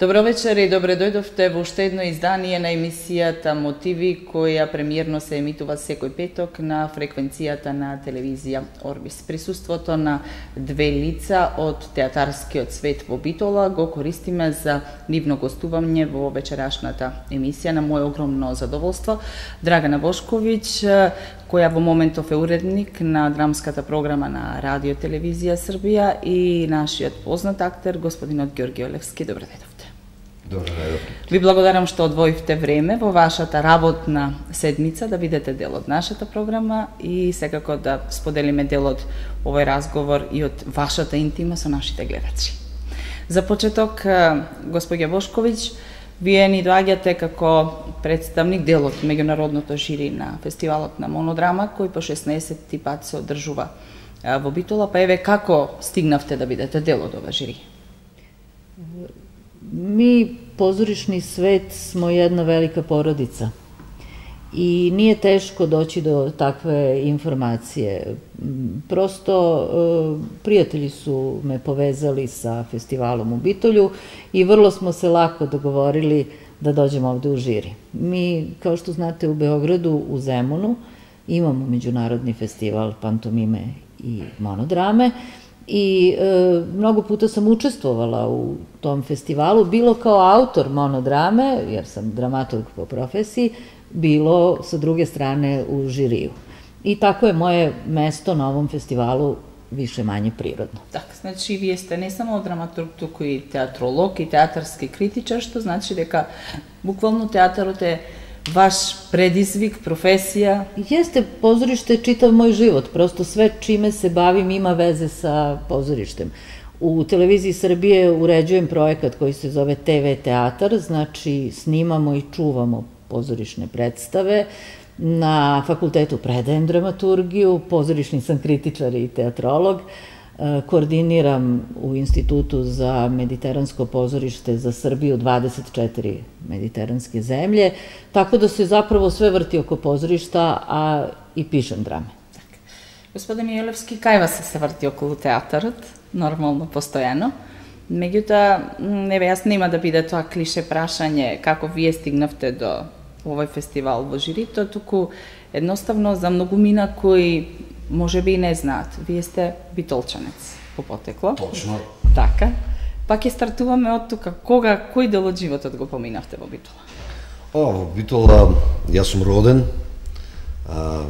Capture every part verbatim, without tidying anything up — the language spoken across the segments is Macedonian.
Добро вечер и добре дојдовте во уште едно издание на емисијата Мотиви, која премиерно се емитува секој петок на фреквенцијата на телевизија Орбис. Присуството на две лица од театарскиот свет во Битола го користиме за нивно гостување во вечерашната емисија. На моје огромно задоволство, Драгана Бошковиќ, која во моментов е уредник на драмската програма на Радио Телевизија Србија, и нашиот познат актер, господинот Ѓорги Олевски. Добре дојдовте. Добре дојдовте. Ви благодарам што одвоивте време во вашата работна седмица да бидете дел од нашата програма и секако да споделиме дел од овој разговор и од вашата интима со нашите гледачи. За почеток, господја Бошковиќ, вие ни доаѓате како представник дел од меѓународното жири на фестивалот на Монодрама, кој по шеснаесетти пат се одржува во Битола, па еве како стигнавте да бидете дел од ова жири? Mi, pozorišni svet, smo jedna velika porodica i nije teško doći do takve informacije. Prosto prijatelji su me povezali sa festivalom u Bitolju i vrlo smo se lako dogovorili da dođemo ovde u žiri. Mi, kao što znate, u Beogradu, u Zemunu, imamo međunarodni festival pantomime i monodrame, i e, mnogo puta sam učestvovala u tom festivalu, bilo kao autor monodrame, jer sam dramaturg po profesiji, bilo sa druge strane u žiriju. I tako je moje mesto na ovom festivalu više manje prirodno. Так, значи вие сте не само драматург, туку и театролог и театарски критичар, што значи дека буквално театарот е vaš predizvik, profesija? Jeste, pozorište je čitav moj život, prosto sve čime se bavim ima veze sa pozorištem. U Televiziji Srbije uređujem projekat koji se zove te ve teatar, znači snimamo i čuvamo pozorišne predstave. Na fakultetu predajem dramaturgiju, pozorišni sam kritičar i teatrolog, koordiniram u Institutu za mediteransko pozorište za Srbiju dvadeset četiri mediteranske zemlje, tako da se zapravo sve vrti oko pozorišta, a i pišem drame. Господин Јелевски, кај вас се врти околу театарот, нормално, постојано. Меѓутоа, еве, јас нема да биде тоа клише прашање како вие стигнавте до овој фестивал во жирито, туку едноставно за многумина кои може би и не знаат. Вие сте битолчанец по потекло. Точно. Така. Па ќе стартуваме од тука. Кога, кој дел од животот го поминавте во Битола? О, во Битола јас сум роден а,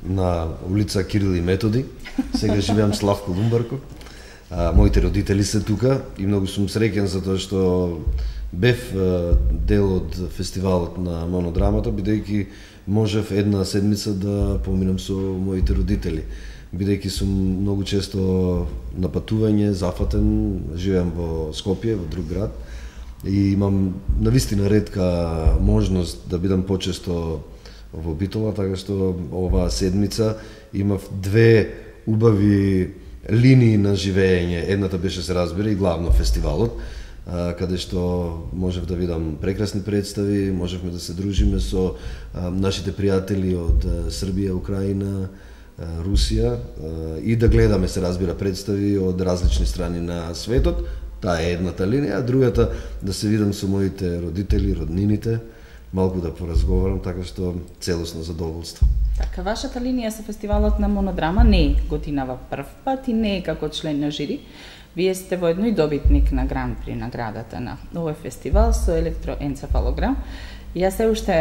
на улица Кирил и Методи. Сега живеам Славко Лумбарко. А, моите родители се тука и многу сум среќен за тоа што бев а, дел од фестивалот на Монодрамата, бидејќи можев една седмица да поминам со моите родители, бидејќи сум многу често на патување, зафатен, живеам во Скопје, во друг град, и имам навистина ретка можност да бидам почесто во Битола, така што оваа седмица имав две убави линии на живење. Едната беше, се разбира, и главно фестивалот, каде што можев да видам прекрасни представи, можевме да се дружиме со нашите пријатели од Србија, Украина, Русија и да гледаме, се разбира, представи од различни страни на светот. Таа е едната линија, а другата да се видам со моите родители, роднините, малку да поразговарам, така што целосно задоволство. Така, вашата линија со фестивалот на Монодрама не е годинава прв пат и не е како член на жири. Вие сте воедно и добитник на Гран При наградата на овој фестивал со електроенцефалограм. Јас се уште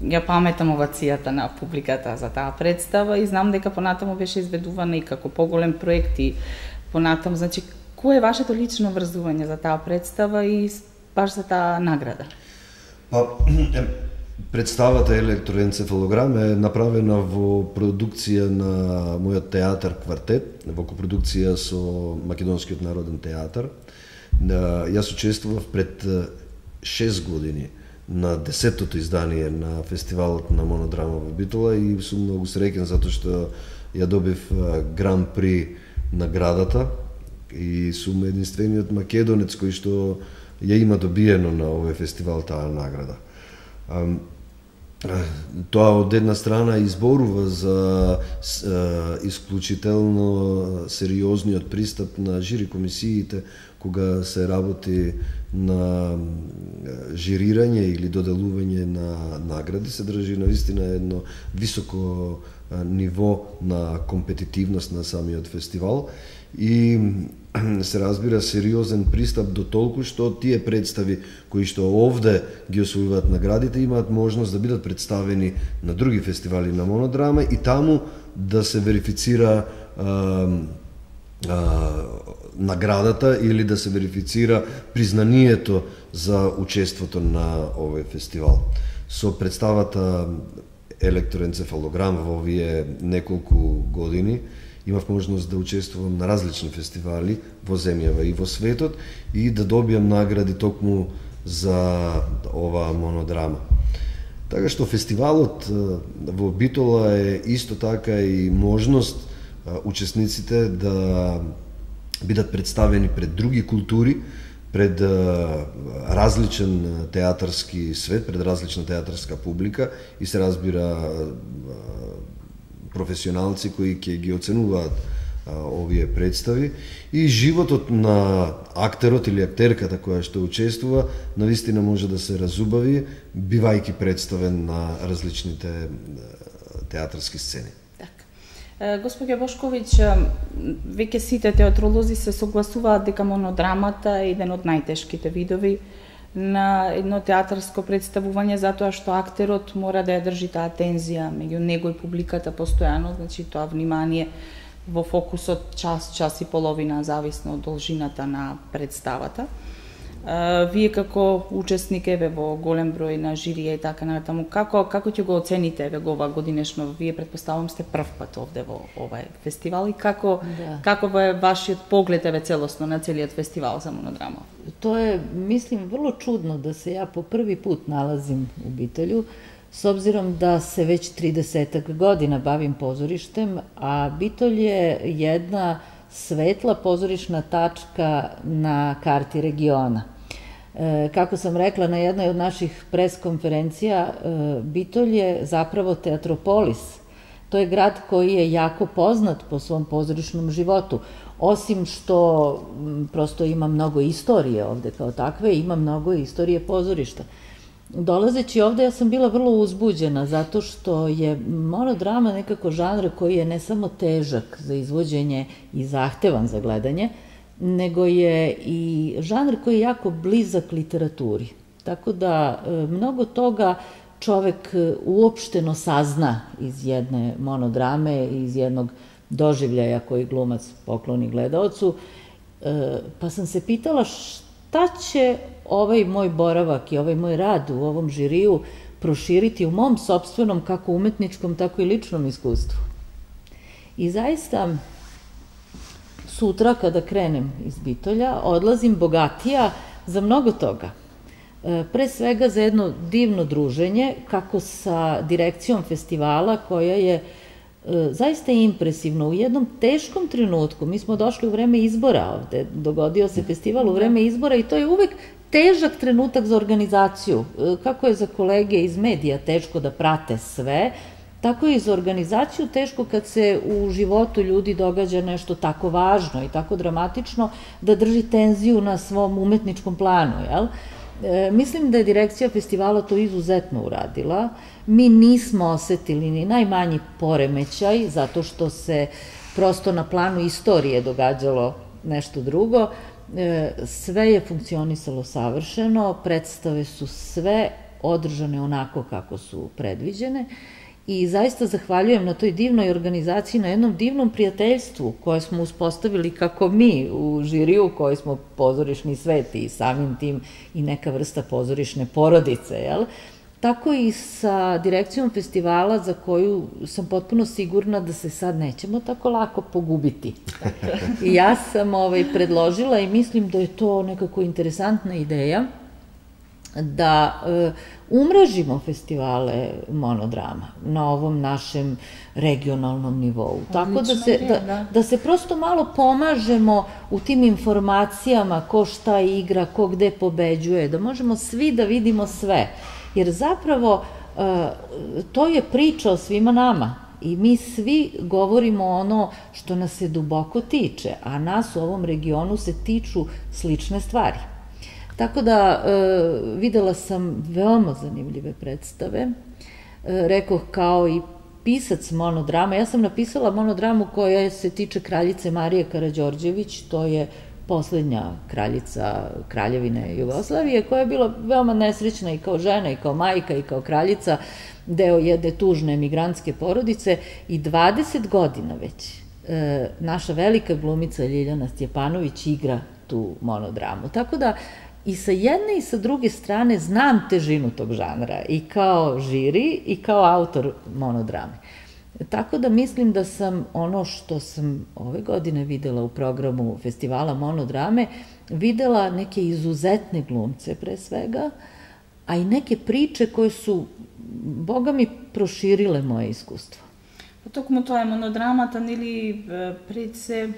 ја паметам овацијата на публиката за таа представа и знам дека понатаму беше изведувана и како поголем проект и понатаму, значи, кој е вашето лично врзување за таа представа и баш за таа награда? Па, представата електроенцефалограм е направена во продукција на мојот театар Квартет, во копродукција со Македонскиот народен театар. Јас учествував пред шест години на десетото издание на фестивалот на Монодрама во Битола и сум многу среќен затоа што ја добив Гран При наградата и сум единствениот македонец кој што ја има добиено на овој фестивал таа награда. Тоа од една страна изборува за исклучително сериозниот пристап на жири комисиите кога се работи на жирирање или доделување на награди, се држи навистина едно високо ниво на компетитивност на самиот фестивал и се разбира сериозен пристап до толку што тие представи кои што овде ги освојуваат наградите имаат можност да бидат представени на други фестивали на монодрама и таму да се верифицира а, а, наградата или да се верифицира признанието за учеството на овој фестивал. Со представата електроенцефалограм во овие неколку години имав можност да учествувам на различни фестивали во земјава и во светот и да добијам награди токму за оваа монодрама. Така што фестивалот во Битола е исто така и можност учесниците да бидат представени пред други култури, пред различен театарски свет, пред различна театарска публика и се разбира професионалци кои ќе ги оценуваат а, овие представи и животот на актерот или актерката која што учествува навистина може да се разубави бивајќи представен на различните театарски сцени. Господја Бошковиќ, веќе сите театролози се согласуваат дека монодрамата е еден од најтешките видови на едно театарско представување, затоа што актерот мора да ја држи таа тензија меѓу него и публиката постојано, значи тоа внимание во фокусот час, час и половина, зависно од должината на представата. Вие како учесник еве во голем број на жирија и така натаму, како како ќе го оцените еве го ова годинешно? Вие претпоставувам сте прв пат овде во овај фестивал и како да. Каков е вашиот поглед еве целосно на целиот фестивал за монодрама? Тоа е, мислим, врло чудно да се ја по први пут налазим у Битолју, с обзиром да се веќе тридесет година бавим позориштем, а Битолј е една светла позоришна тачка на карти региона. E, kako sam rekla na jednoj od naših press-konferencija, e, Bitolj je zapravo teatropolis. To je grad koji je jako poznat po svom pozorišnom životu. Osim što m, prosto ima mnogo istorije ovde kao takve, ima mnogo istorije pozorišta. Dolazeći ovde ja sam bila vrlo uzbuđena zato što je monodrama nekako žanr koji je ne samo težak za izvođenje i zahtevan za gledanje, nego je i žanr koji je jako blizak literaturi. Tako da mnogo toga čovek uopšteno sazna iz jedne monodrame, iz jednog doživljaja koji glumac pokloni gledaocu. Pa sam se pitala šta će ovaj moj boravak i ovaj moj rad u ovom žiriju proširiti u mom sopstvenom, kako umetničkom, tako i ličnom iskustvu. I zaista, sutra kada krenem iz Bitolja, odlazim bogatija za mnogo toga. Pre svega za jedno divno druženje, kako sa direkcijom festivala, koja je zaista impresivno. U jednom teškom trenutku, mi smo došli u vreme izbora ovde, dogodio se festival u vreme izbora i to je uvek težak trenutak za organizaciju. Kako je za kolege iz medija teško da prate sve, tako je i za organizaciju teško kad se u životu ljudi događa nešto tako važno i tako dramatično da drži tenziju na svom umetničkom planu, jel? E, mislim da je direkcija festivala to izuzetno uradila. Mi nismo osetili ni najmanji poremećaj, zato što se prosto na planu istorije događalo nešto drugo. E, sve je funkcionisalo savršeno, predstave su sve održane onako kako su predviđene. I zaista zahvaljujem na toj divnoj organizaciji, na jednom divnom prijateljstvu koje smo uspostavili kako mi u žiriju, koji smo pozorišni svet i samim tim i neka vrsta pozorišne porodice, jel? Tako i sa direkcijom festivala za koju sam potpuno sigurna da se sad nećemo tako lako pogubiti. I ja sam ovaj, predložila i mislim da je to nekako interesantna ideja da e, umrežimo festivale monodrama na ovom našem regionalnom nivou. Tako da se, da, da se prosto malo pomažemo u tim informacijama ko šta igra, ko gde pobeđuje, da možemo svi da vidimo sve. Jer zapravo to je priča o svima nama i mi svi govorimo ono što nas se duboko tiče, a nas u ovom regionu se tiču slične stvari. Tako da videla sam veoma zanimljive predstave, rekoh kao i pisac monodrama. Ja sam napisala monodramu koja se tiče kraljice Marije Karađorđević, to je poslednja kraljica Kraljevine Jugoslavije, koja je bila veoma nesrećna i kao žena, i kao majka, i kao kraljica, deo jedne tužne emigrantske porodice, i dvadeset godina već naša velika glumica Ljiljana Stjepanović igra tu monodramu. Tako da i sa jedne i sa druge strane znam težinu tog žanra, i kao žiri i kao autor monodrame. Tako da mislim da sam ono što sam ove godine videla u programu festivala monodrame, videla neke izuzetne glumce pre svega, a i neke priče koje su, Boga mi, proširile moje iskustvo. Токму тоа е монодрамата, нели, пред се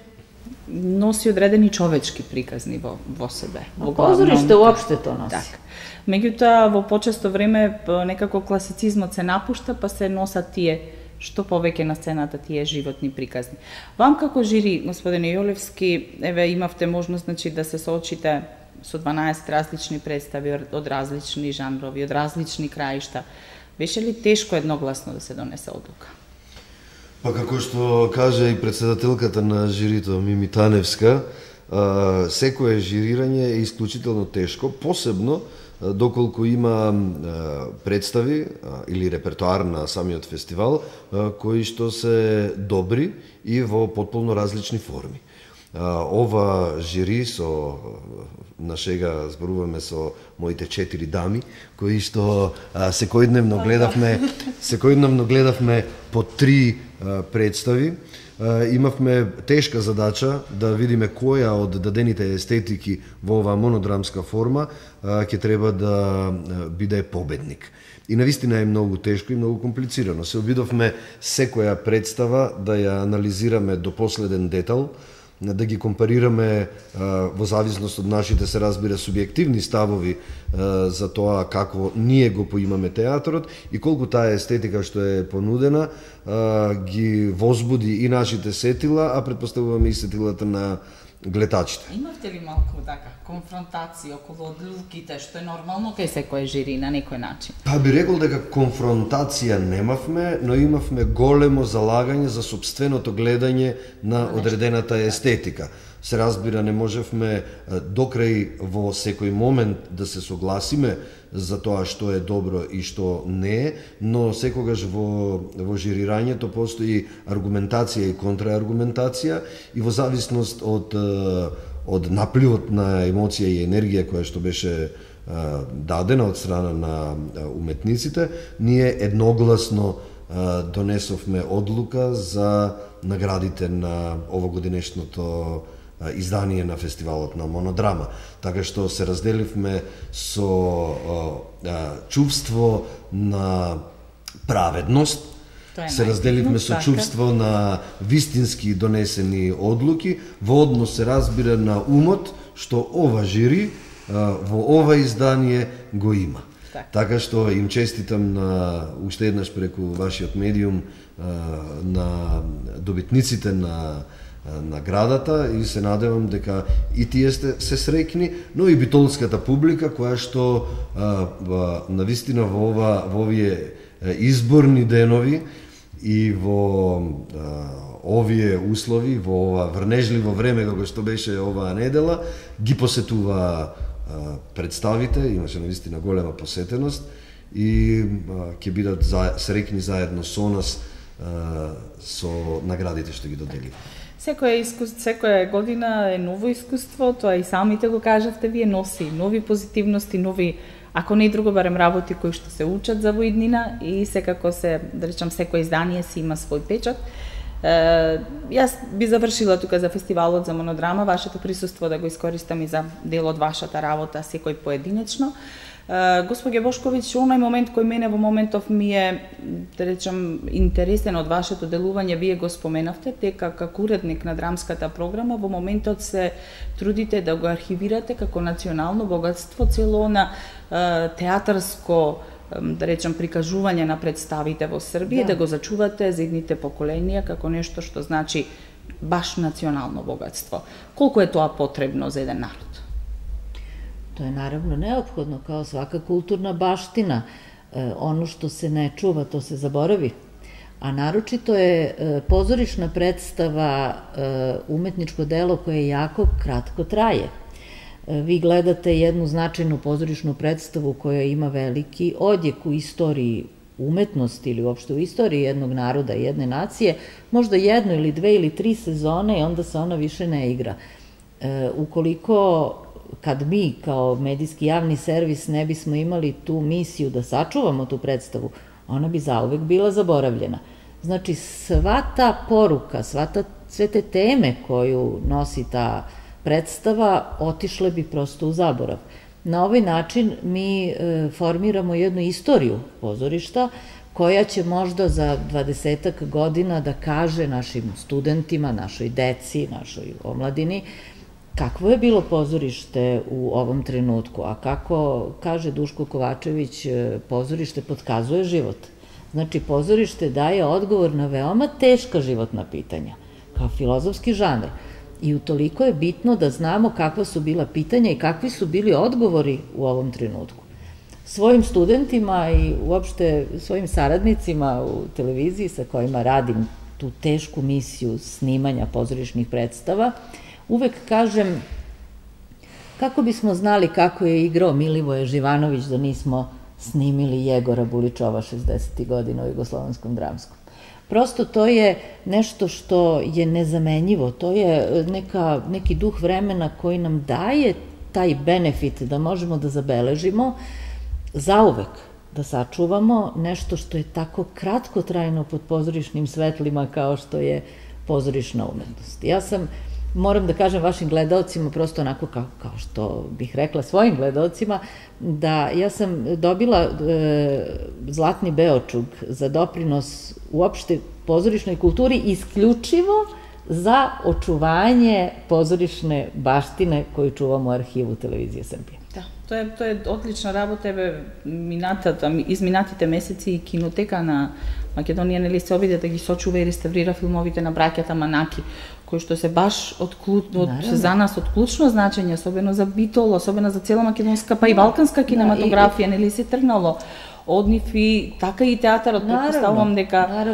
носи одредени човечки приказни во, во себе. Во позориште уопште то носи. Так. Меѓутоа, во почесто време некако класицизмот се напушта, па се носат тие што повеќе на сцената, тие животни приказни. Вам како жири, господине Јолевски, еве имавте можност, значи, да се соочите со дванаесет различни представи од различни жанрови, од различни краишта. Беше ли тешко едногласно да се донесе одлука? Па како што кажа и председателката на жирито Мими Таневска, секое жирирање е исклучително тешко, посебно доколку има представи или репертоар на самиот фестивал кои што се добри и во потполно различни форми. Ова жири со на шега зборуваме со моите четири дами кои што секојдневно гледавме секојдневно гледавме по три представи. Имавме тешка задача да видиме која од дадените естетики во оваа монодрамска форма ќе треба да биде победник. И навистина е многу тешко и многу комплицирано. Се обидовме секоја представа да ја анализираме до последен детал, да ги компарираме во зависност од нашите, се разбира, субјективни ставови за тоа како ние го поимаме театрот и колку таа естетика што е понудена ги возбуди и нашите сетила, а предпоставуваме и сетилата на гледачите. Имавте ли малку така конфронтација околу одлуките, што е нормално кај секој жири на некој начин? Па би рекол дека конфронтација немавме, но имавме големо залагање за сопственото гледање на одредената естетика. Се разбира, не можевме докрај во секој момент да се согласиме за тоа што е добро и што не е, но секогаш во, во жирирањето постои аргументација и контрааргументација и во зависност од, од напливот на емоција и енергија која што беше дадена од страна на уметниците, ние едногласно донесовме одлука за наградите на овогодинешното издание на фестивалот на монодрама. Така што се разделивме со а, чувство на праведност, се разделивме со чувство на вистински донесени одлуки, во однос, се разбира, на умот, што ова жири а, во ова издание го има. Так. Така што им честитам на уште еднаш преку вашиот медиум а, на добитниците на наградата и се надевам дека и тие сте се среќни, но и битолската публика која што а, а, навистина во ова во овие изборни денови и во а, овие услови, во ова врнежливо време како што беше оваа недела, ги посетува а, представите, имаше навистина голема посетеност и а, ќе бидат за, среќни заедно со нас а, со наградите што ги доделиме. Секоја искуство, секоја година е ново искуство, тоа и самите го кажавте, вие носи нови позитивности, нови, ако не и друго, барем работи кои што се учат за во иднина и секако се, да речам, секој издание си има свој печат. Е, јас би завршила тука за фестивалот за монодрама, вашето присуство да го искористам и за дел од вашата работа, секој поединечно. Господје Бошковиќ, оној момент кој мене во моментов ми е, да речем, интересен од вашето делување, вие го споменавте, дека како уредник на драмската програма во моментот се трудите да го архивирате како национално богатство цело на театарско да речем, прикажување на представите во Србија, да, да го зачувате за идните поколенија како нешто што значи баш национално богатство. Колку е тоа потребно за еден народ? To je naravno neophodno, kao svaka kulturna baština. E, ono što se ne čuva, to se zaboravi. A naročito je e, pozorišna predstava e, umetničko delo koje jako kratko traje. E, vi gledate jednu značajnu pozorišnu predstavu koja ima veliki odjek u istoriji umetnosti ili uopšte u istoriji jednog naroda, jedne nacije, možda jednu ili dve ili tri sezone i onda se ona više ne igra. E, ukoliko kad mi kao medijski javni servis ne bismo imali tu misiju da sačuvamo tu predstavu, ona bi zauvek bila zaboravljena. Znači, sva ta poruka, sva ta, sve te teme koju nosi ta predstava otišle bi prosto u zaborav. Na ovaj način mi e, formiramo jednu istoriju pozorišta koja će možda za dvadesetak godina da kaže našim studentima, našoj deci, našoj omladini, kakvo je bilo pozorište u ovom trenutku, a kako kaže Duško Kovačević, pozorište potkazuje život. Znači, pozorište daje odgovor na veoma teška životna pitanja, kao filozofski žanr. I utoliko je bitno da znamo kakva su bila pitanja i kakvi su bili odgovori u ovom trenutku. Svojim studentima i uopšte svojim saradnicima u televiziji sa kojima radim tu tešku misiju snimanja pozorišnih predstava, uvek kažem kako bismo znali kako je igrao Milivoje Živanović da nismo snimili Jegora Buličova šezdesetih godina u Jugoslovenskom dramskom. Prosto to je nešto što je nezamenjivo, to je neka, neki duh vremena koji nam daje taj benefit da možemo da zabeležimo zauvek, da sačuvamo nešto što je tako kratkotrajno pod pozorišnim svetlima kao što je pozorišna umetnost. Ja sam, moram da kažem vašim gledaocima, prosto onako kao, kao što bih rekla svojim gledaocima, da ja sam dobila e, Zlatni Beočug za doprinos uopšte pozorišnoj kulturi isključivo za očuvanje pozorišne baštine koju čuvamo u arhivu Televizije Srbije. Да, тоа е тоа е одлична работа, еве минатата изминатите месеци и кинотека на Македонија нели се обиде да ги сочува и реставрира филмовите на браќата Манаки, кои што се баш од, од за нас од клучно значење, особено за Битол, особено за цела македонска па и балканска кинематографија, нели се тргнало од нив и така и театарот, претпоставувам дека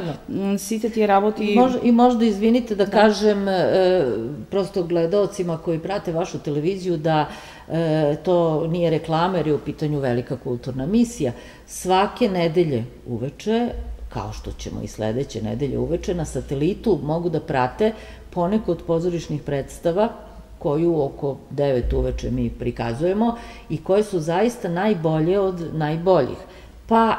сите тие работи... И, мож, и можда, извините да, да кажем е, просто гледаоцима кои прате вашу телевизiju da e, to nije reklama jer je u pitanju velika kulturna misija. Svake nedelje uveče, kao što ćemo i sledeće nedelje uveče, na satelitu mogu da prate poneko od pozorišnih predstava koju oko devet uveče mi prikazujemo i koje su zaista najbolje od najboljih. Pa,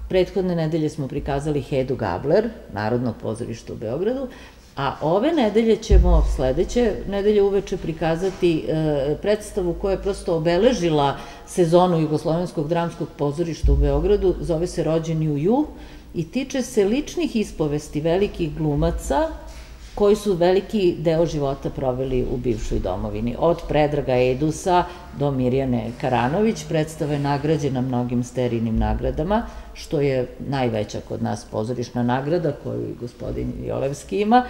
prethodne nedelje smo prikazali Hedu Gabler, Narodnog pozorišta u Beogradu, a ove nedelje ćemo sledeće nedelje uveče prikazati e, predstavu koja je prosto obeležila sezonu Jugoslovenskog dramskog pozorišta u Beogradu, zove se Rođeni u Ju i tiče se ličnih ispovesti velikih glumaca koji su veliki deo života proveli u bivšoj domovini. Od Predraga Edusa do Mirjane Karanović, predstava je nagrađena mnogim sterijnim nagradama, što je najveća kod nas pozorišna nagrada koju i gospodin Jolevski ima.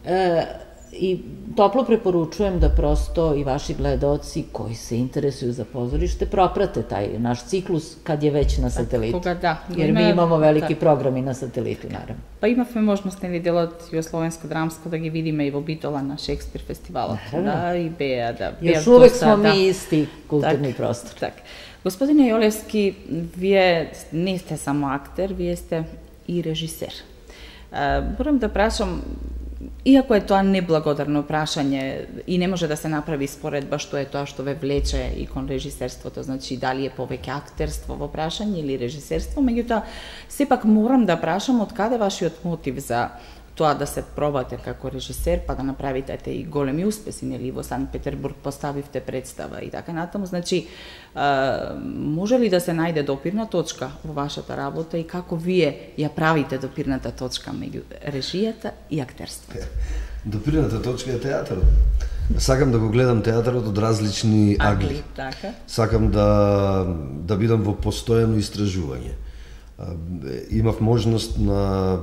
E, I toplo preporučujem da prosto i vaši gledaoci koji se interesuju za pozorište proprate taj naš ciklus kad je već na satelitu. Кога да. Jer mi imamo veliki program i na satelitu, naravno. Pa imавме можност нели делот Југословенско драмско да ги видиме и во Битола на Шекспир фестивалот. Да, и беа да. Još uvek smo mi isti kulturni prostor. Так. Господине Јолевски, вие не сте само актер, вие сте и режисер. Морам да прашам, иако е тоа неблагодарно прашање и не може да се направи споредба што е тоа што ве влече и кон режисерството, значи дали е повеќе актерство во прашање или режисерство, меѓутоа сепак морам да прашам од каде вашиот мотив за тоа да се пробате како режисер, па да направите и големи успеси, нели во Санкт Петербург поставивте представа и така натаму, значи може ли да се најде допирна точка во вашата работа и како вие ја правите допирната точка меѓу режијата и актерството? Допирната точка е театарот. Сакам да го гледам театарот од различни агли. Така. Сакам да да бидам во постојано истражување. имав можност на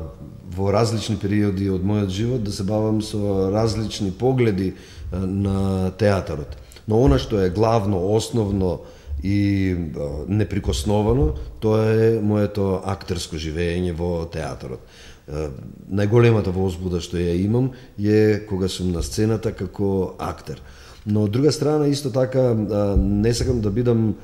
во различни периоди од мојот живот да се бавам со различни погледи на театарот. Но она што е главно, основно и неприкосновано, тоа е моето актерско живење во театарот. Најголемата возбуда што ја имам е кога сум на сцената како актер. Но од друга страна исто така не сакам да бидам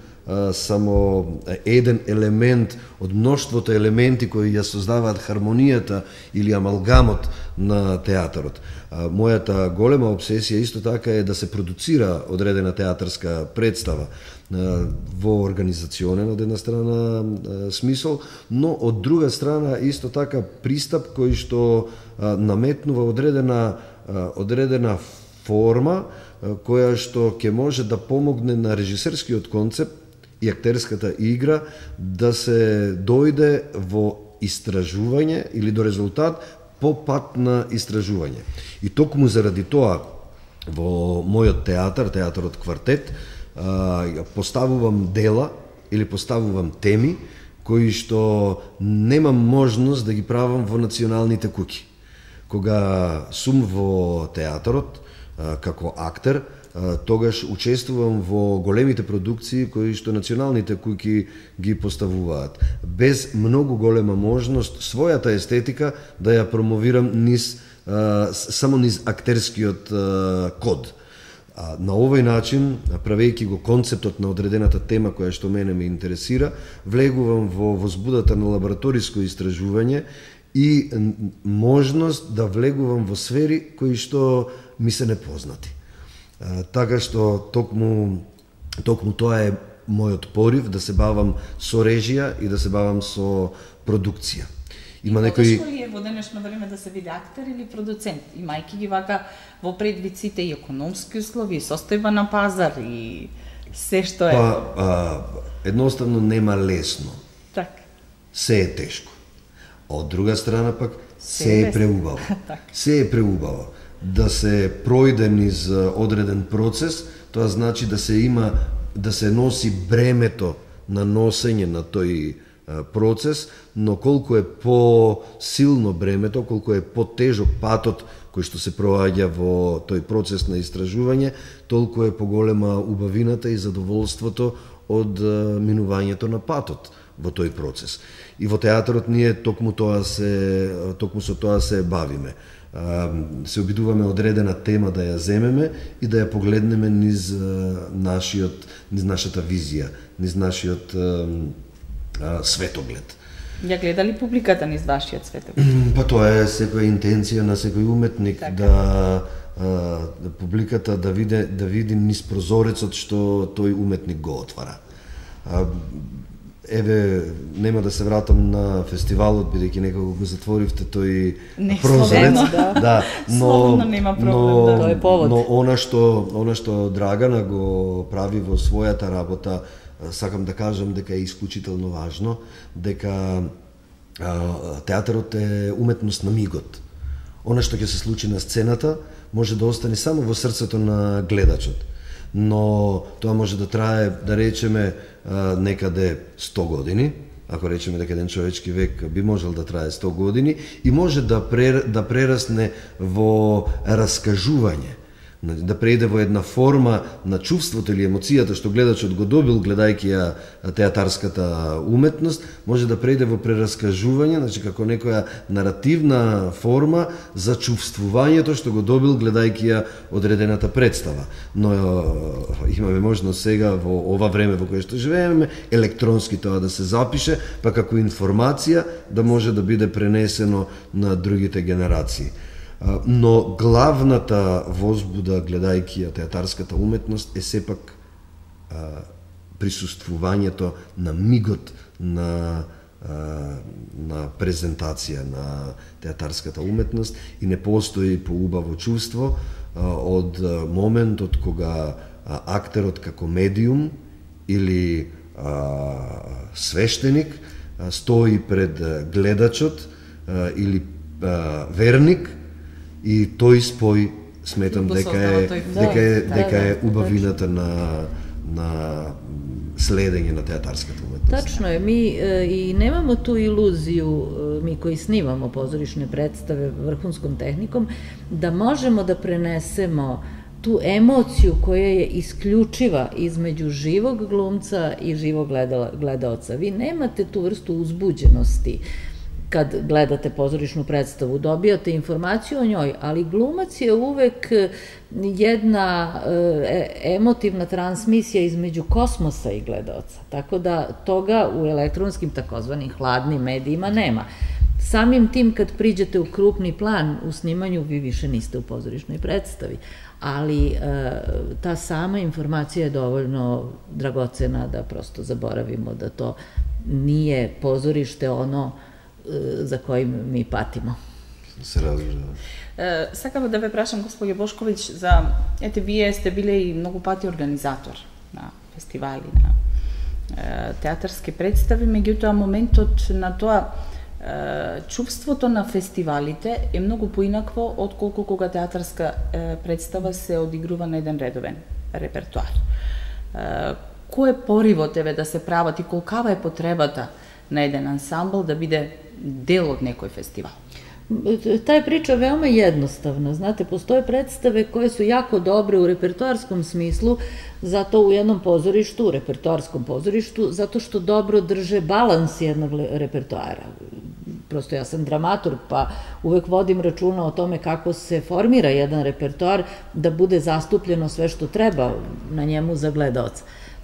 само еден елемент од мноштвото елементи кои ја создаваат хармонијата или амалгамот на театарот. Мојата голема обсесија исто така е да се продуцира одредена театарска представа во организационен од една страна смисол, но од друга страна исто така пристап кој што наметнува одредена одредена форма која што ќе може да помогне на режисерскиот концепт и актерската игра да се дојде во истражување или до резултат по пат на истражување. И токму заради тоа во мојот театар, театарот Квартет, поставувам дела или поставувам теми кои што немам можност да ги правам во националните куќи. Кога сум во театарот како актер, тогаш учествувам во големите продукции кои што националните куќи ги поставуваат, без многу голема можност својата естетика да ја промовирам низ само низ актерскиот код. На овој начин, правејќи го концептот на одредената тема која што мене ме интересира, влегувам во возбудата на лабораториско истражување и можност да влегувам во сфери кои што ми се непознати. Така што токму, токму тоа е мојот порив да се бавам со режија и да се бавам со продукција. Има некои... Потешко ли е во денешно време да се биде актер или продуцент, имајќи ги вака во предвид сите и економски услови, состојба на пазар и се што е? Па, а, едноставно нема лесно. Так. Се е тешко. Од друга страна пак се, се е преубаво. Се е преубаво. Да се пројде низ одреден процес, тоа значи да се има, да се носи бремето на носење на тој процес, но колку е по-силно бремето, колку е по-тежок патот кој што се проаѓа во тој процес на истражување, толку е поголема убавината и задоволството од минувањето на патот во тој процес. И во театарот ние токму тоа се токму со тоа се бавиме. Се обидуваме одредена тема да ја земеме и да ја погледнеме низ нашиот низ нашата визија, низ нашиот светоглед. Ја гледа ли публиката низ вашиот светоглед? Па тоа е секоја интенција на секој уметник, така. да, да публиката да види да види низ прозорецот што тој уметник го отвара. Еве, нема да се вратам на фестивалот, бидејќи некако го затворивте тој не, прозорец. Да, да, но, нема проблем, но, да. Тоа е повод. Но она што, она што Драгана го прави во својата работа, сакам да кажам дека е исклучително важно, дека а, театарот е уметност на мигот. Она што ќе се случи на сцената може да остане само во срцето на гледачот. Но тоа може да трае, да речеме, некаде сто години, ако речеме дека еден човечки век би можел да трае сто години, и може да, прер, да прерасне во раскажување, да прејде во една форма на чувството или емоцијата што гледачот го добил гледајќи ја театарската уметност, може да прејде во прераскажување, значи како некоја наративна форма за чувствувањето што го добил гледајќи ја одредената представа. Но имаме можност сега во ова време во кое што живееме електронски тоа да се запише, па како информација да може да биде пренесено на другите генерации. Но главната возбуда гледајќи ја театарската уметност е сепак а, присуствувањето на мигот на, а, на презентација на театарската уметност и не постои поубаво чувство а, од моментот кога а, актерот како медиум или а, свештеник а, стои пред гледачот а, или а, верник и тој спој сметам дека е дека е дека е убавината на на следење на театарската уметност. Tačno je, mi e, i nemamo tu iluziju, e, mi koji snimamo pozorišne predstave vrhunskom tehnikom, da možemo da prenesemo tu emociju koja je isključiva između živog glumca i živog gledaoca. Vi nemate tu vrstu uzbuđenosti kad gledate pozorišnu predstavu, dobijate informaciju o njoj, ali glumac je uvek jedna e, emotivna transmisija između kosmosa i gledaoca, tako da toga u elektronskim takozvanim hladnim medijima nema. Samim tim kad priđete u krupni plan u snimanju, vi više niste u pozorišnoj predstavi, ali e, ta sama informacija je dovoljno dragocena da prosto zaboravimo da to nije pozorište ono za kojim mi patimo. Се разбира. Е, сакав да ве прашам, господје Бошковиќ, за, ете, вие сте биле и многу пати организатор на фестивали, на е, театарски представи, меѓутоа моментот на тоа е, чувството на фестивалите е многу поинакво отколку кога театарска е, представа се одигрува на еден редовен репертуар. Е, кој е поривот еве да се прават и колкава е потребата на еден ансамбл да биде deo od nekoj festival? Ta je priča veoma jednostavna. Znate, postoje predstave koje su jako dobre u repertoarskom smislu, zato u jednom pozorištu, u repertoarskom pozorištu, zato što dobro drže balans jednog repertoara. Prosto ja sam dramaturg, pa uvek vodim računa o tome kako se formira jedan repertoar da bude zastupljeno sve što treba na njemu za gledaoca.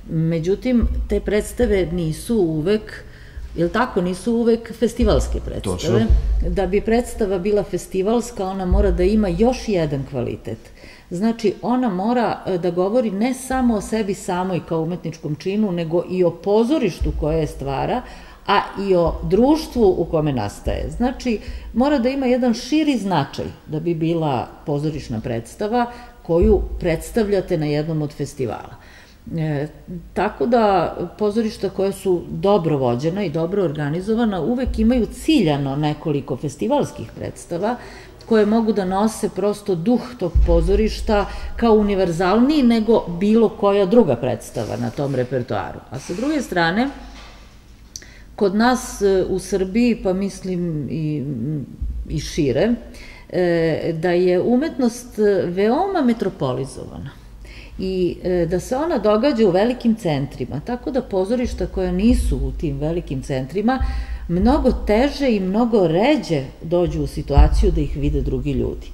Međutim, te predstave nisu uvek, jel tako, nisu uvek festivalske predstave. Da bi predstava bila festivalska, ona mora da ima još jedan kvalitet. Znači, ona mora da govori ne samo o sebi samoj kao umetničkom činu, nego i o pozorištu koje je stvara, a i o društvu u kome nastaje. Znači, mora da ima jedan širi značaj da bi bila pozorišna predstava koju predstavljate na jednom od festivala. E, tako da pozorišta koja su dobro vođena i dobro organizovana uvek imaju ciljano nekoliko festivalskih predstava koje mogu da nose prosto duh tog pozorišta kao univerzalniji nego bilo koja druga predstava na tom repertoaru. A sa druge strane, kod nas u Srbiji, pa mislim i, i šire, e, da je umetnost veoma metropolizovana i da se ona događa u velikim centrima, tako da pozorišta koja nisu u tim velikim centrima mnogo teže i mnogo ređe dođu u situaciju da ih vide drugi ljudi.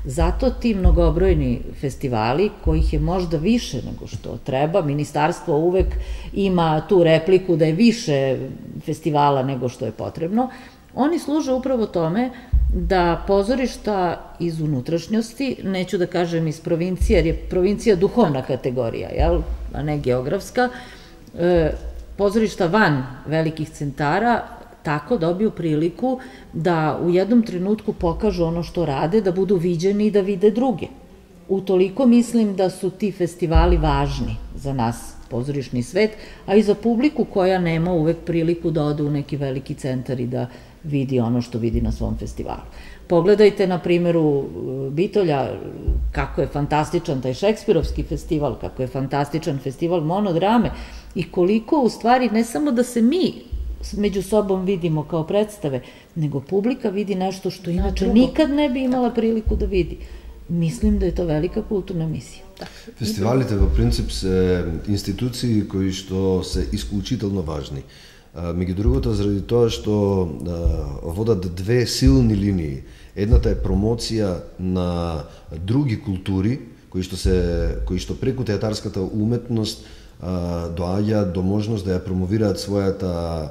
Zato ti mnogobrojni festivali, kojih je možda više nego što treba, ministarstvo uvek ima tu repliku da je više festivala nego što je potrebno, oni služe upravo tome da pozorišta iz unutrašnjosti, neću da kažem iz provincije, jer je provincija duhovna kategorija, a ne geografska, pozorišta van velikih centara tako dobiju priliku da u jednom trenutku pokažu ono što rade, da budu viđeni i da vide druge. Utoliko mislim da su ti festivali važni za nas, pozorišni svet, a i za publiku koja nema uvek priliku da ode u neki veliki centar i da vidi ono što vidi na svom festivalu. Pogledajte na primjeru Bitolja kako je fantastičan taj šekspirovski festival, kako je fantastičan festival monodrame i koliko u stvari ne samo da se mi među sobom vidimo kao predstave, nego publika vidi nešto što inače nikad ne bi imala priliku da vidi. Mislim da je to velika kulturna misija. Фестивалите во принцип се институции кои што се исклучително важни. Меѓу другото, заради тоа што водат две силни линии. Едната е промоција на други култури, кои што се кои што преку театарската уметност доаѓа до можност да ја промовираат својата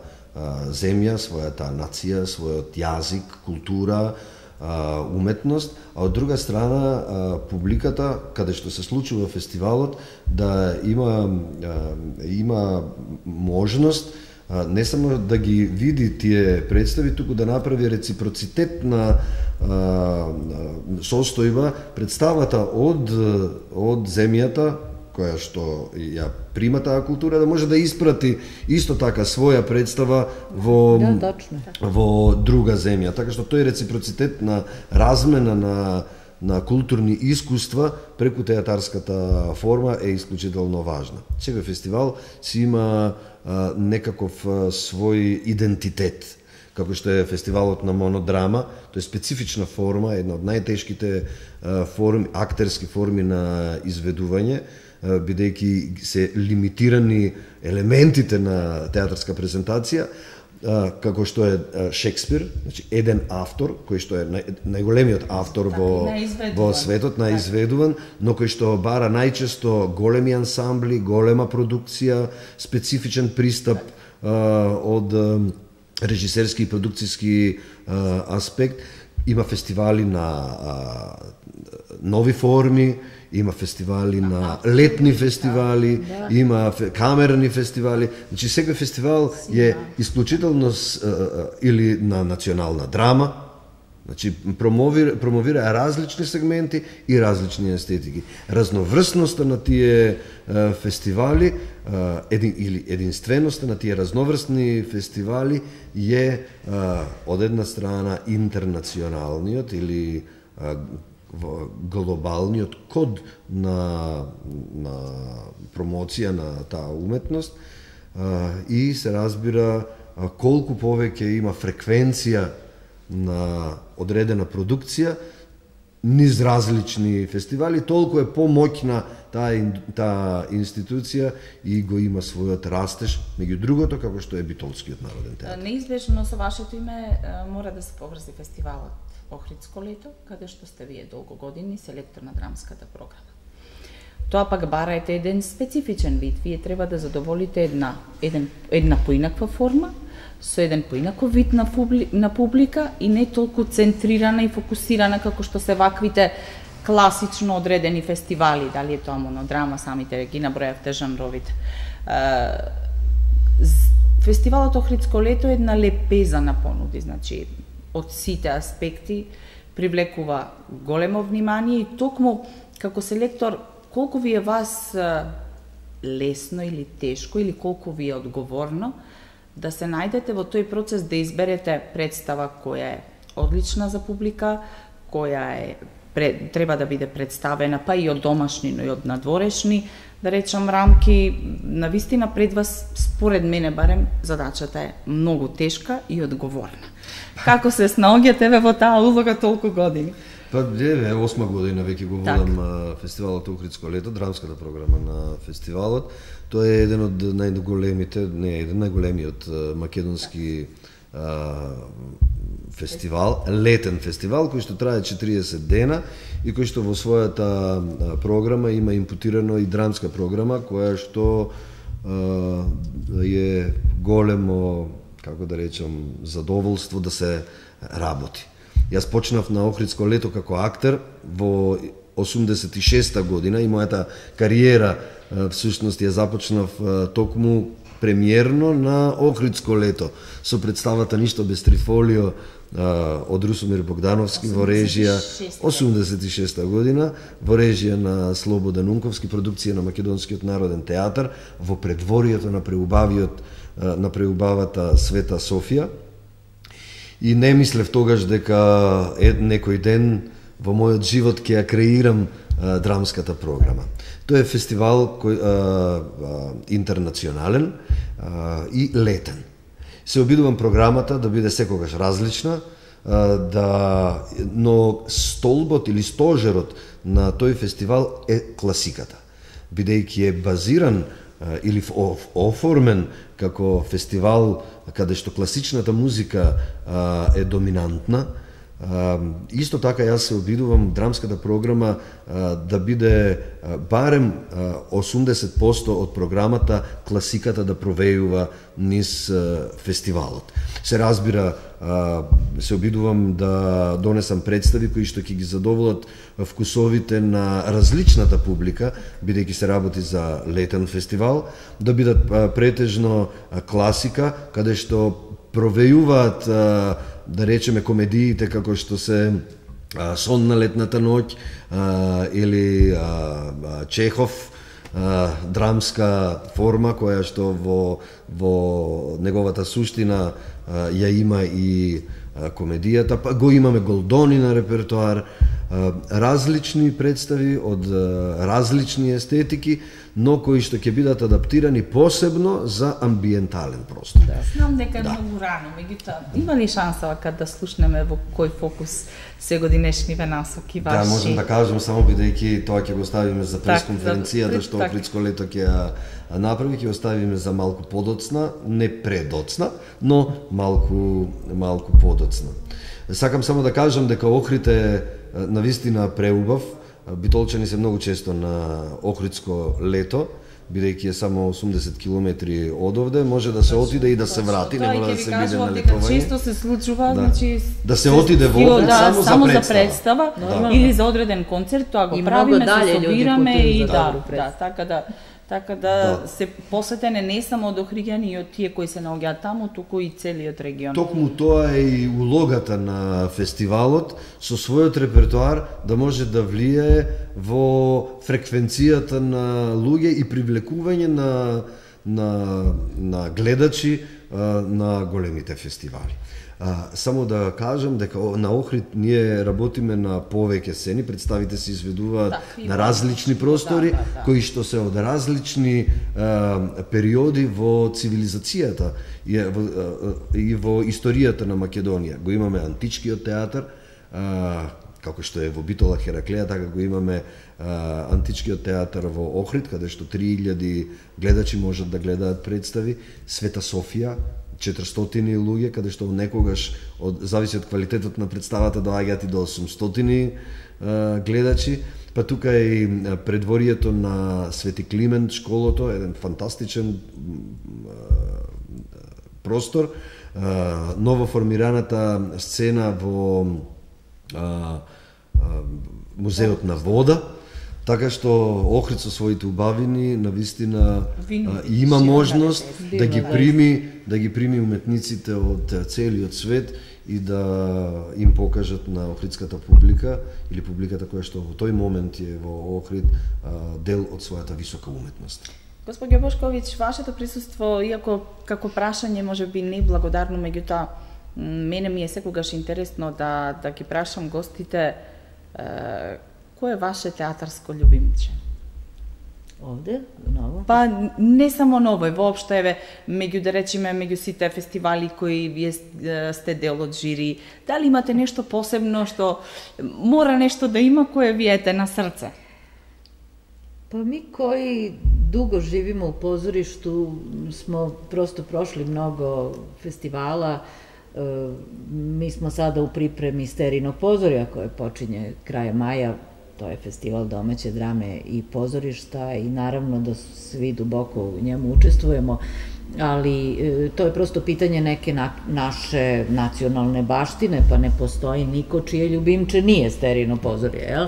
земја, својата нација, својот јазик, култура, уметност, а од друга страна публиката, каде што се случува фестивалот, да има има можност не само да ги види тие представи, туку да направи реципроцитетна состојба представата од од земјата која што ја прима таа култура, да може да испрати исто така своја представа во да, точно. во друга земја. Така што тој реципроцитет на размена на на културни искуства преку театарската форма е исклучително важна. Секој фестивал си има а, некаков а, свој идентитет. Како што е фестивалот на монодрама, тоа е специфична форма, една од најтешките а, форми, актерски форми на изведување, а, бидејќи се лимитирани елементите на театарска презентација, а, како што е а, Шекспир, значи еден автор, кој што е нај, најголемиот автор во, во светот, наизведуван, но кој што бара најчесто големи ансамбли, голема продукција, специфичен пристап а, од а, режисерски и продукцијски а, аспект. Има фестивали на а, нови форми, има фестивали на летни фестивали, да, да. Има камерни фестивали. Значи секој фестивал е исклучително или на национална драма, значи промовира, промовира различни сегменти и различни естетики. Разноврсноста на тие е, фестивали, е, един, или единственоста на тие разноврсни фестивали е, е од една страна интернационалниот или е, глобалниот код на, на промоција на таа уметност а, и се разбира а, колку повеќе има фреквенција на одредена продукција низ различни фестивали, толку е помоќна таа таа институција и го има својот растеж, меѓу другото како што е Битолскиот народен театар. Неизбежно со вашето име мора да се поврзи фестивалот Охридско лето, каде што сте вие долго години селектор на драмската програма. Тоа пак бараете еден специфичен вид. Вие треба да задоволите една, еден, една поинаква форма, со еден поинаков вид на, публи, на публика и не толку центрирана и фокусирана како што се ваквите класично одредени фестивали, дали е тоа монодрама, самите ги набројавте жанровите. Фестивалот Охридско лето е една лепеза на понуди, значи од сите аспекти привлекува големо внимание и токму како селектор колку ви е вас лесно или тешко или колку ви е одговорно да се најдете во тој процес да изберете представа која е одлична за публика, која е треба да биде представена па и од домашни, но и од надворешни, да речам, рамки. Навистина пред вас, според мене барем, задачата е многу тешка и одговорна. Како се снаоѓате ве во таа улога толку години? Па, е, осма година веќе го водам фестивалот Охридско лето, драмската програма на фестивалот. Тоа е еден од најголемите, не еден најголемиот македонски а, фестивал, летен фестивал, кој што трае четириесет дена и кој што во својата програма има импутирано и драмска програма, која што а, е големо, како да речам, задоволство да се работи. Јас почнав на Охридско лето како актер во осумдесет и шеста година и мојата кариера всушност ја започнав токму премиерно на Охридско лето со представата Ништо без трифолио од Русомир Богдановски во режија осумдесет и шеста година, во режија на Слободан Унковски, продукција на Македонскиот народен театар во предворието на преубавиот на преубавата Света Софија. И не мислев тогаш дека е, некој ден во мојот живот ќе ја креирам а, драмската програма. Тоа е фестивал кој а, а, интернационален а, и летен. Се обидувам програмата да биде секогаш различна, а, да, но столбот или стожерот на тој фестивал е класиката, бидејќи е базиран а, или оформен како фестивал каде што класичната музика а, е доминантна. А, исто така јас се обидувам драмската програма а, да биде а, барем а, осумдесет проценти од програмата класиката да провејува низ а, фестивалот. Се разбира, а, се обидувам да донесам представи кои што ќе ги задоволат вкусовите на различната публика, бидејќи се работи за летен фестивал, да бидат а, претежно а, класика, каде што провејуваат, а, да речеме, комедиите како што се а, Сон на летната ноќ а, или а, а, Чехов, а, драмска форма која што во, во неговата суштина а, ја има и а, комедијата, па го имаме Голдони на репертоар, различни представи од различни естетики, но кои што ќе бидат адаптирани посебно за амбиентален простор. Да. Знам дека е да. многу рано, меѓутоа има ли шанса кога да слушнеме во кој фокус се годинешниве насоки ваши? Да, можем да кажем само бидејќи тоа ќе го оставиме за пресконференцијата так, што Охридско лето ќе ја направи, ќе оставиме за малку подоцна, не предоцна, но малку малку подоцна. Сакам само да кажам дека Охрид е навистина преубав. Битолчани се многу често на Охридско лето, бидејќи е само осумдесет километри од овде, може да се отиде и да се врати, не мора да се биде на летување. Често се случува, да. значи да се отиде во Охрид да, само, само за за представа, представа да. или за одреден концерт, тоа го и правиме, се собираме и да, да, да, така да така да, да. се посетене не само од охриѓани и од тие кои се наоѓаат таму, туку и целиот регион. Токму тоа е и улогата на фестивалот со својот репертоар да може да влие во фреквенцијата на луѓе и привлекување на на на гледачи на големите фестивали. А, само да кажам дека на Охрид ние работиме на повеќе сцени, представите се изведуваат да, на различни простори, да, да, да. кои што се од различни а, периоди во цивилизацијата и во, а, и во историјата на Македонија. Го имаме античкиот театар, а, како што е во Битола Хераклеја, така го имаме а, античкиот театар во Охрид, каде што три илјади гледачи можат да гледаат представи, Света Софија, четиристотини луѓе, каде што некогаш од зависи од квалитетот на представата доаѓаат и до осумстотини а, гледачи. Па тука е и предворието на Свети Климент, школото, еден фантастичен а, простор, а, ново формираната сцена во а, а, музеот на вода. Така што Охрид со своите убавини навистина а, има можност да ги прими да ги прими уметниците од целиот свет и да им покажат на охридската публика или публиката која што во тој момент е во Охрид а, дел од својата висока уметност. Господје Бошковиќ, вашето присуство, иако како прашање може би неблагодарно, меѓутоа мене ми е секогаш интересно да да ги прашам гостите е, кој е ваше театарско љубимче? Овде, ново? Па не само ново, воопшто еве меѓу да речеме меѓу сите фестивали кои вие сте дел од жири, дали имате нешто посебно што мора нешто да има кое ви ете на срце? Па ми кои дуго живимо у позоришту смо просто прошли много фестивала. Mi smo sada u pripremi Sterinog pozorja koje počinje kraja maja, to je festival domaće drame i pozorišta i naravno da svi duboko u njemu učestvujemo, ali to je prosto pitanje neke na, naše nacionalne baštine, pa ne postoji niko čije ljubimče nije Sterino pozorje, jel?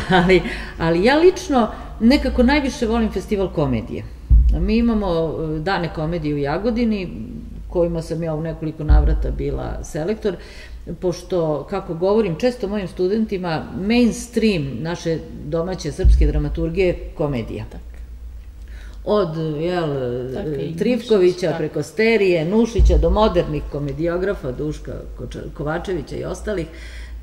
ali, ali ja lično nekako najviše volim festival komedije. Mi imamo dane komedije u Jagodini, kojima sam ja u nekoliko navrata bila selektor, pošto, kako govorim često mojim studentima, mainstream naše domaće srpske dramaturgije je komedija. Od jel, Trivkovića tak. preko Sterije, Nušića do modernih komediografa, Duška Kovačevića i ostalih,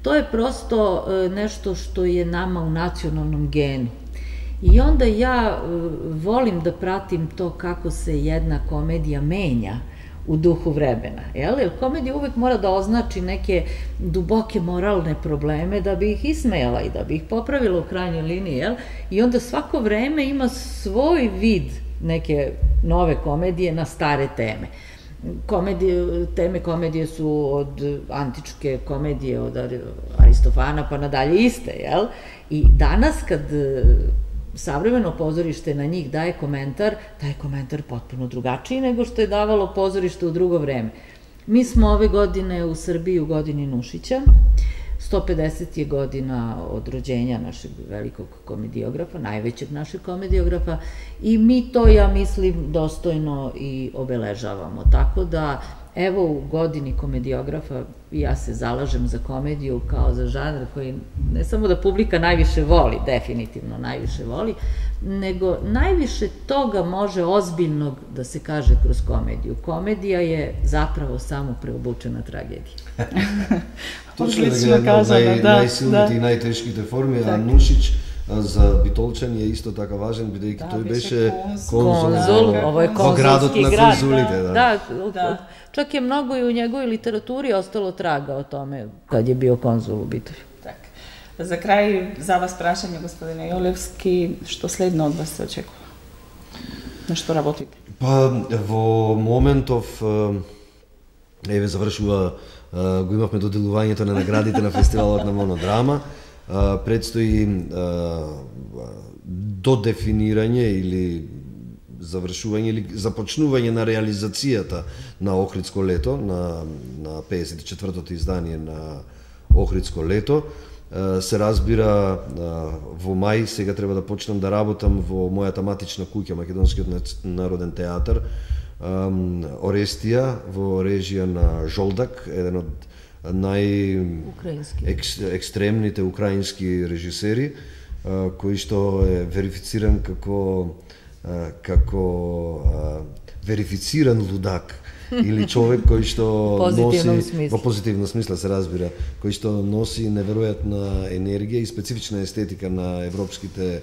to je prosto nešto što je nama u nacionalnom genu. I onda ja volim da pratim to kako se jedna komedija menja u duhu vremena, jel? Jer komedija uvek mora da označi neke duboke moralne probleme da bi ih ismejala i da bi ih popravila u krajnjoj liniji, jel? I onda svako vreme ima svoj vid neke nove komedije na stare teme. Komedije, teme komedije su od antičke komedije, od Aristofana pa nadalje iste, jel? I danas kad savremeno pozorište na njih daje komentar, taj komentar potpuno drugačiji nego što je davalo pozorište u drugo vreme. Mi smo ove godine u Srbiji u godini Nušića, sto pedeset je godina od rođenja našeg velikog komediografa, najvećeg našeg komediografa, i mi to, ja mislim, dostojno i obeležavamo. Tako da evo u godini komedijografa ja se zalažem za komediju kao za žanr koji ne samo da publika najviše voli, definitivno najviše voli, nego najviše toga može ozbiljnog da se kaže kroz komediju. Komedija je zapravo samo preobučena tragedija. Точно да ги нај, најсилните и најтешките форми, а Нушич за Битолчан е исто така важен, бидејќи тој беше конзул во градот на конзулите. Да, čak je mnogo i u njegovoj literaturi ostalo traga o tome kad je bio konzul u Bitovi. За крај, за вас прашање, господине Јолевски, што следно од вас се очекува? На што работите? Па, во моментов, еве, завршува, го имавме доделувањето на наградите на фестивалот на монодрама, предстои додефинирање или завршување или започнување на реализацијата на Охридско лето, на, на педесет и четвртото издание на Охридско лето. Се разбира, во мај сега треба да почнам да работам во мојата матична куќа, Македонскиот народен театар, Орестија, во режија на Жолдак, еден од нај-екстремните украински режисери, кој што е верифициран како како верифициран лудак или човек кој што носи во позитивно смисла се разбира, кој што носи неверојатна енергија и специфична естетика на европските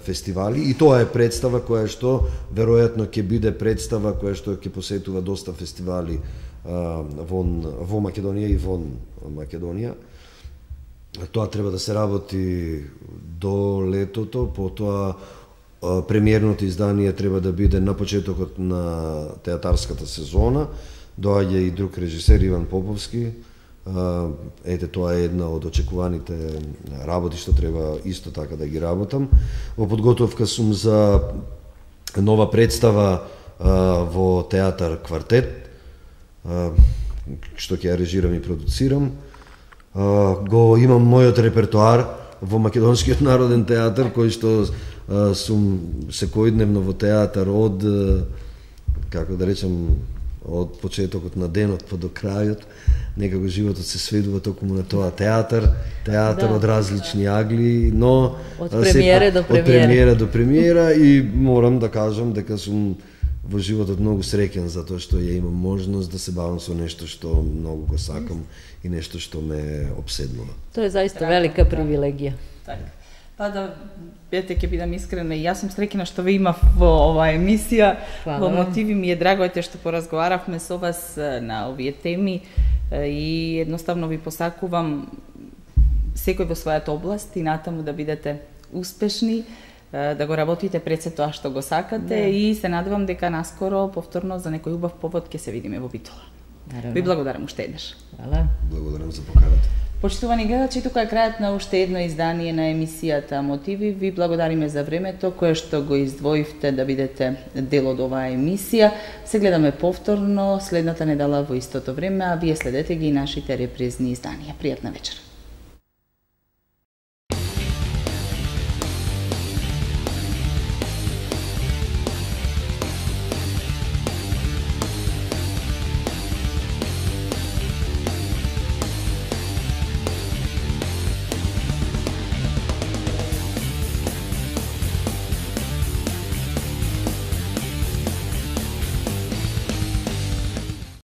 фестивали, и тоа е представа која што веројатно ќе биде представа која што ќе посетува доста фестивали вон во Македонија и вон Македонија. Тоа треба да се работи до летото, потоа премиерното издание треба да биде на почетокот на театарската сезона. Доаѓа и друг режисер, Иван Поповски. Ете, тоа е една од очекуваните работи што треба исто така да ги работам. Во подготовка сум за нова представа во театар Квартет, што ќе ја режирам и продуцирам. Го имам мојот репертоар во Македонскиот народен театар, кој што сум секојдневно во театар од, како да речем, од почетокот на денот па до крајот. Некако животот се сведува токму на тоа театар, театар да, од различни агли, но од премиера до премиера. Од премиера до премиера, и морам да кажам дека сум во животот многу среќен затоа што ја имам можност да се бавам со нешто што многу го сакам и нешто што ме обседнува. Тоа е заиста велика привилегија. Така. Па да, бете, ќе бидам искрена, и јас сум среќна што ве имав во оваа емисија. Во Мотиви ми е драго ете што поразговаравме со вас на овие теми и едноставно ви посакувам секој во својата област и натаму да бидете успешни, да го работите пред се тоа што го сакате, да. И се надевам дека наскоро повторно за некој убав повод ќе се видиме во Битола. Ви благодарам уште еднаш. Хвала. Благодарам за поканата. Почитувани гледачи, тука е крајот на уште едно издание на емисијата Мотиви. Ви благодариме за времето кое што го издвоивте да бидете дел од оваа емисија. Се гледаме повторно следната недела во истото време, а вие следете ги и нашите репризни изданија. Пријатна вечер.